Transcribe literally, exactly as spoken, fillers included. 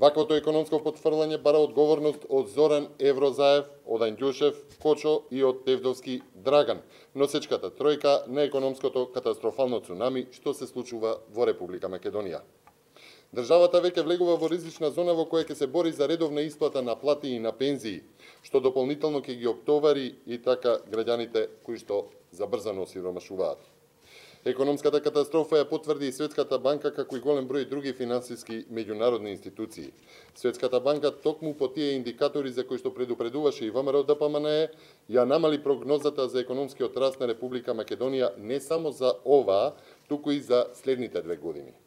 Ваквото економско потврлање бара одговорност од Зоран Еврозаев, од Анѓушев, Кочо и од Тевдовски Драган, носечката тројка на економското катастрофално цунами што се случува во Република Македонија. Државата веќе влегува во ризична зона во која ќе се бори за редовна исплата на плати и на пензии, што дополнително ќе ги оптовари и така граѓаните кои што забрзано осиромашуваат. Економската катастрофа ја потврди и Светската банка, како и голем број други финансиски меѓународни институции. Светската банка токму по тие индикатори за кои што предупредуваше и ВМРО Д П М Н Е, ја намали прогнозата за економскиот раст на Република Македонија не само за оваа, туку и за следните две години.